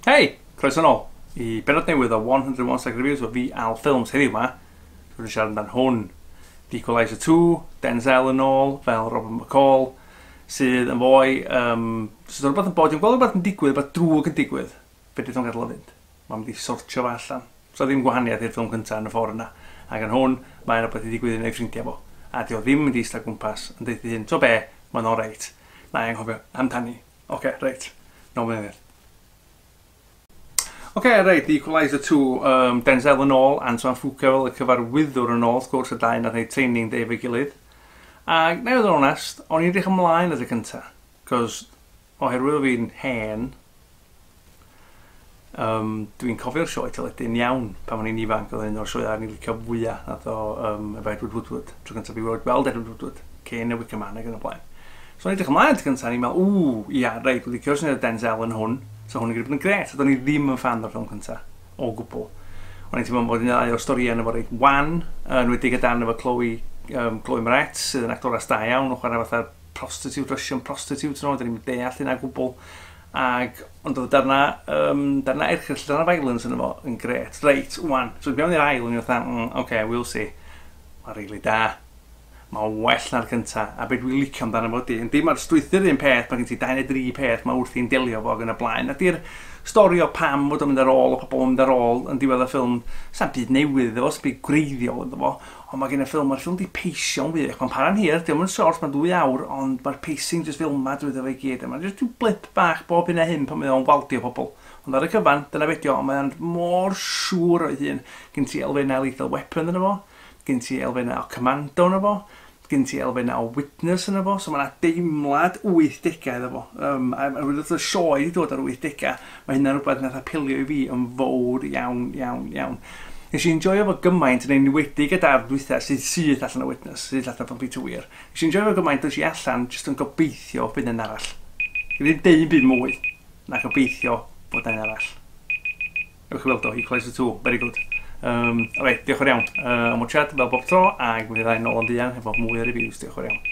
Hei! Croeso nôl i bennod newydd o 101 Second Reviews o fi Al Films heddiw ma. Dwi'n siarad amdan hwn. The Equalizer 2, Denzel yn ôl, fel Robert McCall, sydd yn fwy, sydd yn rhywbeth yn bod, dwi'n gweld rhywbeth yn digwydd, rhywbeth drwg yn digwydd. Fedrith o'n gadael o fynd. Mae'n mynd i sortio fo allan. So ddim gwahaniaeth i'r ffilm cyntaf yn y ffordd yna. Ac yn hwn, mae'n rhywbeth i ddigwydd yn ei ffrindiau fo. A di o ddim yn mynd i eistedd gwmpas yn deud ei hun, to be, mae'n oreit. Na i anghofio amdani. Oce, reit. Nôl mewn. Oce, reit, The Equalizer 2, Denzel yn ôl, Antoine Fuqua fel y cyfarwyddwr yn ôl, wrth gwrs, y dau nath wneud Training Day efo'i gilydd. Ac, na i fod yn onest, o'n i'n edrych ymlaen at y cynta, cos oherwydd o fi'n hen, dwi'n cofio'r sioe teledu'n iawn pan o'n i'n ifanc, oedd un o'r sioeau o'n i'n licio fwyaf, nath o efo Edward Woodward, tro cyntaf fi weld Edward Woodward, cyn y Wicker Man ac yn y blaen. So o'n i'n edrych ymlaen at y cyntaf, o'n i'n meddwl, ww, ia, reit, dwi'n licio'r syniad o Denzel yn hwn, so hwn yn gallu bod yn grêt, a do'n i ddim yn fan o'r ffilm cyntaf, o gwbl. O'n i'n teimlo bod un o'r storïau yn efo reit wan, yn wedi gyda efo Chloe Moretz, sydd yn actores da iawn, yn chwarae fatha prostitute, Russian prostitute, no, dyn ni'n deall hynna gwbl. Ac, ond oedd darna erchyll, darna violence yn efo yn grêt. Reit, wan. So mewn i'r ail, o'n i'n fatha, okay, we'll see. Mae'n really da. Mae'n well na'r cynta, a beth dwi'n licio amdano fo ydi, yndi, mae'r strwythur un peth, mae gen ti 2 neu 3 peth mae wrthi'n delio fo ac yn y blaen, a di'r stori o pam fod o'n mynd ar ôl, o pobl yn mynd ar ôl yn diwedd y ffilm, sa'm byd newydd iddo fo, sa'm byd gwreiddiol iddo fo, ond mae gen y ffilm, mae'r ffilm di peisio'n wych, mae'n para'n hir, dio'm yn short, mae'n 2 awr, ond mae'r pacing jyst fel yma drwyddo fo i gyd, a mae'n jyst rhyw blip bach bob hyn a hyn pan mae o'n waldio pobl. Ond ar y cyfan, dyna be dio, ond mae'n mor siŵr o'i hun. Gen ti elfennau Lethal Weapon yno fo, gen ti elfennau o Commando yno fo, gen ti elfennau o Witness yno fo, so mae yna deimlad 80au iddo fo. A wrth y sioe wedi dod ar 80au, mae hynna'n rhywbeth nath apelio i fi yn fawr iawn, iawn, iawn. Nes i enjoyo fo gymaint yn enwedig y darn dwytha sydd syth allan o Witness, sydd allan o Peter Weir. Nes i enjoyo fo gymaint, dos i allan jyst yn gobeithio bydd yn arall. Ddim deud byd mwy na gobeithio bod yn arall. Ewch i weld o, Equalizer 2, very good. Reit, diolch yn iawn am watchad fel bob tro, ac mi fyddai nôl yn fuan efo mwy o reviews, diolch yn iawn.